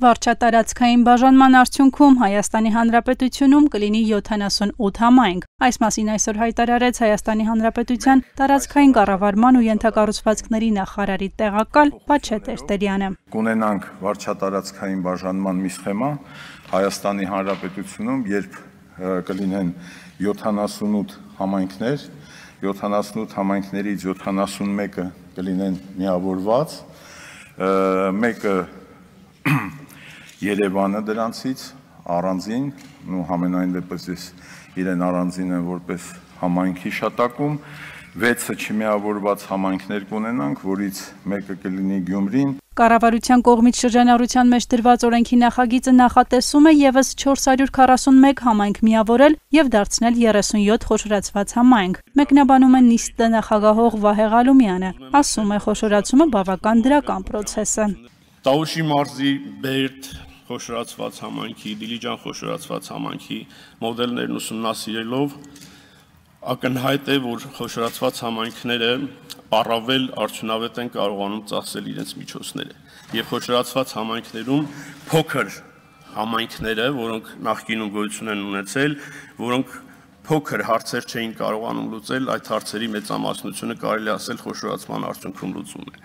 Վարչատարածքային բաժանման արդյունքում Հայաստանի Հանրապետությունում կլինի 78 համայնք։ Այս մասին այսօր հայտարարեց Հայաստանի Հանրապետության տարածքային կառավարման ու ենթակառուցվածքների նախարարի տեղակալ Պաչե Տերտերյանը։ Կունենանք վարչատարածքային բաժանման մի սխեմա Հայաստանի Հանրապետությունում, երբ կլինեն 78 համայնքներ, 78 համայնքներից 71-ը կլինեն միավորված, մեկը Երևանը դրանցից առանձին, ու համենայն դեպս ես իրեն առանձին եմ որպես համայնք հիշատակում, 6-ը չմիավորված համայնքներ կունենանք, որից մեկը կլինի Գյումրին։ Կառավարության կողմից շրջանառության մեջ դրված օրենքի նախագիծը նախատեսում է եւս 441 համայնք միավորել եւ դարձնել 37 խոշորացված համայնք։ Մեկնաբանում է նիստը նախագահող Վահե Ղալումյանը, ասում է խոշորացումը բավական դրական պրոցես է։ Տավուշի մարզի Բերդ խոշորացված համայնքի, Դիլիջան խոշորացված համայնքի մոդելներն ուսումնասիրելով ակնհայտ է, որ խոշորացված համայնքները առավել արդյունավետ են կարողանում ծախսել իրենց միջոցները եւ խոշորացված համայնքներում փոքր համայնքները, որոնք նախկինում գոյություն են ունեցել, որոնք փոքր հարցեր չէին կարողանում լուծել, այդ հարցերի մեծամասնությունը կարելի ասել խոշորացման արդյունքում լուծում է։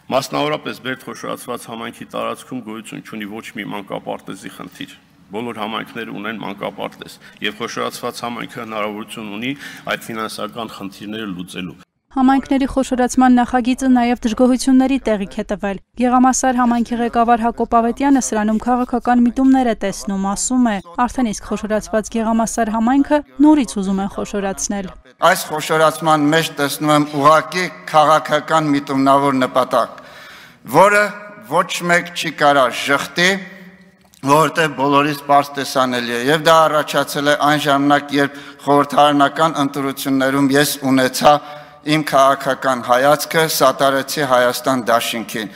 Մասնավորապես Բերդ խոշորացված համայնքի տարածքում գոյություն չունի ոչ մի մանկապարտեզի խնդիր։ Բոլոր համայնքները ունեն մանկապարտեզ եւ խոշորացված համայնքը հնարավորություն ունի այդ ֆինանսական խնդիրները լուծելու։ Համայնքների խոշորացման նախագիծը նաև դժգոհությունների տեղիք է տվել։ Գեղամասար համայնքի ղեկավար Հակոբ Ավետյանը սրանում քաղաքական միտումներ է տեսնում, ասում է, արդեն իսկ խոշորացված Գեղամասար համայնքը նորից ուզում են խոշորացնել։ Այս խոշորացման մեջ տեսնում եմ ուղղակի քաղաքական միտումնավոր նպատակ, որը ոչ մեկ չի կարող շղթի, որտեղ բոլորից պարզ տեսանելի է, եւ դա առաջացել է այն ժամանակ, երբ խորհրդարանական ընտրություններում ես ունեցա իմ քաղաքական հայացքը, սատարեցի Հայաստան դաշինքին։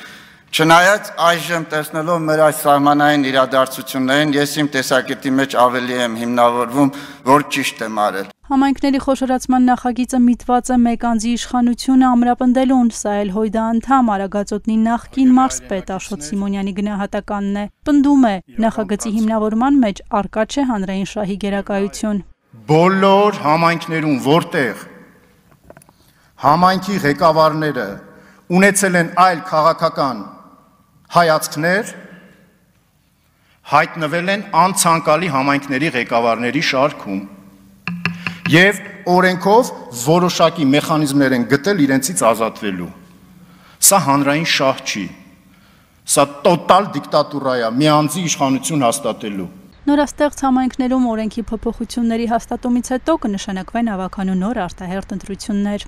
Չնայած այժմ տեսնելով մեր այս սահմանային իրադարձություններին, ես իմ տեսակետի մեջ ավելի եմ հիմնավորվում, որ ճիշտ եմ արել։ Համայնքների խոշորացման նախագիծը միտված է մեկ անձի իշխանությունը ամրապնդելուն, սա էլ Հույդա անդամ Արագածոտնի նախկին մարզպետ Աշոտ Սիմոնյանի գնահատականն է։ Պնդում է, նախագծի հիմնավորման մեջ առկա չէ հանրային շահի գերակայություն։ Բոլոր համայնքներում, որտեղ համայնքի ղեկավարները ունեցել են այլ քաղաքական հայացքներ, հայտնվել են անցանկալի համայնքների ղեկավարների շարքում եւ օրենքով որոշակի մեխանիզմներ են գտել իրենցից ազատվելու։ Սա հանրային շահ չի, սա տոտալ դիկտատուրա է, մի անձի իշխանություն հաստատելու։ Նորաստեղծ համայնքներում օրենքի փոփոխությունների հաստատումից հետո կնշանակվեն ավագանու նոր արտահերթ ընտրություններ։